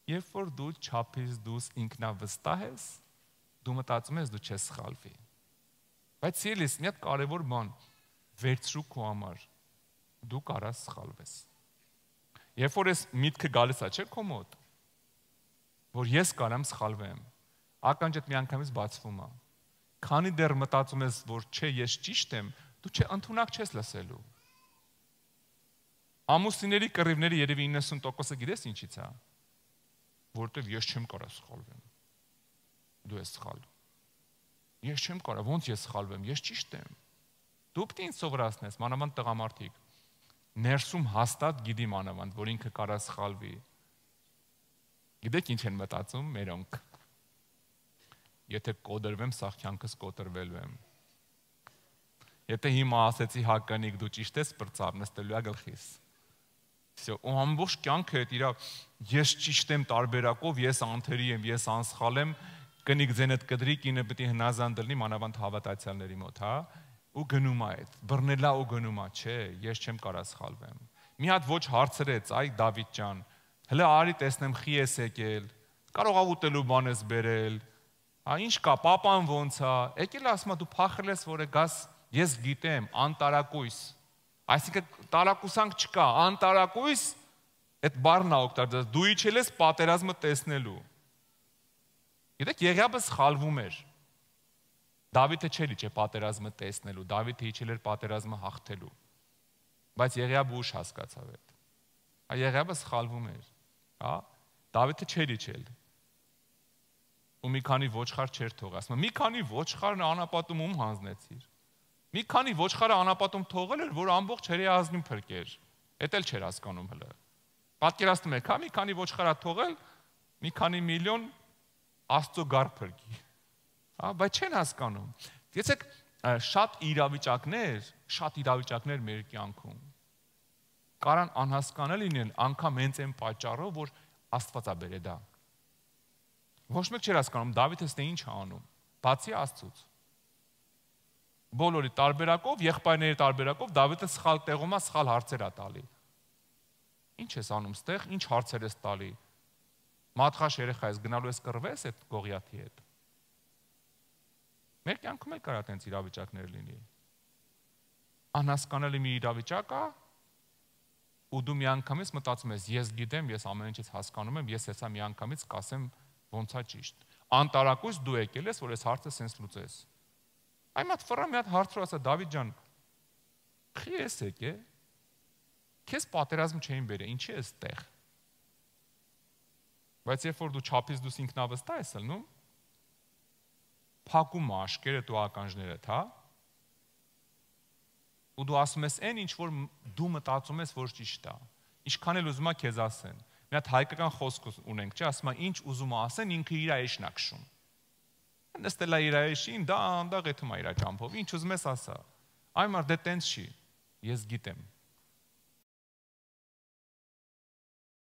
երբ որ դու չափից դուրս ինքնավստահ ես, դու մտածում ես դու չես սխալվի։ Բայց սիրելիս, մի հատ կարևոր բան, վերցրու քո համար, դու կարաս սխալվես։ Երբ որ ես միտքը գալիս է, չէ՞ քո մոտ, որ ես կարամ սխալվեմ, ականջդ միանգամից բացվում է։ Քանի դեռ մտածում ես, որ չէ, ես ճիշտ եմ, դու ընդունակ չես լսելու։ Ամուսինների կռիվների երևի 90%-ը գիտես ինչից է, որովհետև ես չեմ կարող սխալվեմ։ Դու ես սխալ։ Ես չեմ կարող, ոնց ես սխալվեմ, ես ճիշտ եմ։ Դու պետք է ինձ սովորացնես, մանավանդ տղամարդիկ։ Ներսում հաստատ գիտի մանավանդ, որ ինքը կարա սխալվի։ Գիտեք ինչ են մտածում մերոնք։ Եթե կոտրվեմ, սաղ կյանքս կոտրվելու եմ։ Եթե հիմա ասեցի հականիկ, դու ճիշտ ես, պրծավ, նստելու է գլխիս։ Ու ամբողջ կյանքը հետ իրա ես ճիշտ եմ տարբերակով, ես անթերի եմ, ես անսխալ եմ, կնիկ ձենդ կդրի, կինը պետք է հնազանդ լինի, մանավանդ հավատացյալների մոտ, հա, ու գնում է այդ, բռնելա ու գնում է, չէ, ես չեմ կարա սխալվեմ։ Մի հատ ոչ հարցրեց, այ Դավիթ ջան, հələ արի տեսնեմ խի ես եկել, կարող ա ուտելու բան ես բերել, հա, ինչ կա, պապան ոնց է, եկել ասում է դու փախել ես, որ գաս, ես գիտեմ, անտարակույս, այսինքն տարակուսանք չկա, անտարակույս, այդ բառն է օգտագործել, դու իջել ես պատերազմը տեսնելու։ Գիտեք, Եղիաբը սխալվում էր։ Դավիթը չէր իջել պատերազմը տեսնելու, Դավիթը իջել էր պատերազմը հաղթելու։ Բայց Եղիաբը ուշ հասկացավ այդ։ Եղիաբը սխալվում էր, հա, Դավիթը չէր իջել։ Ու մի քանի ոչխար չէր թողել, ասում է, մի քանի ոչխարն անապատում ում հանձնեցիր։ Մի քանի ոչխարը անապատում թողել էր, որ ամբողջ հրեազգին փրկեր։ Էդ էլ չէր հասկանում հələ։ Պատկերացնում եք, հա, մի քանի ոչխարա թողել, մի քանի միլիոն Աստծո գար փրկի։ Հա, բայց չեն հասկանում։ Գիտեք, շատ իրավիճակներ մեր կյանքում կարան անհասկանալի լինեն, անգամ հենց այն պատճառով, որ Աստված է բերել դա։ Ոչ մեկ չէր հասկանում Դավիթը ստե ինչ է անում, բացի Աստծուց։ Բոլորի տարբերակով, եղբայրների տարբերակով Դավիթը սխալ տեղում է, սխալ հարցեր է տալի։ Ինչ ես անում ստեղ, ինչ հարցեր ես տալի։ Մատխաշ երեխա ես գնալու ես կռվես այդ Գողիաթի հետ։ Մեր կյանքում էլ կարա տենց իրավիճակներ լինի։ Անհասկանալի մի իրավիճակ է, ու դու միանգամից մտածում ես, ես գիտեմ, ես ամեն ինչից հասկանում եմ, ես հեսա միանգամից կասեմ ոնց է ճիշտ։ Անտարակույս դու եկել ես, որ այս հարցը սենց լուծես։ Այ մատ ֆռա մի հատ հարցրու ասա Դավիթ ջան, խի ես եկե։ Քեզ պատերազմ չէին բերել, ինչի ես տեղ։ Բայց երբ որ դու չափից դուս ինքնավստահ ես ելնում, փակում աշկերտ ու ականջներդ, հա։ Ու դու ասում ես այն ինչ որ դու մտածում ես որ ճիշտ է։ Ինչքան էլ ուզում ա քեզ ասեն։ Մի հատ հայկական խոսք ունենք, չէ՞, ասում ա ինչ ուզում ա ասեն, ինքը իր էշն ա քշում։ Նստել է իր էշին, դա անդաղ եթում ա իր ճամփով, ինչ ուզում ես ասա։ Այ մար դե տենց չի։ Ես գիտեմ։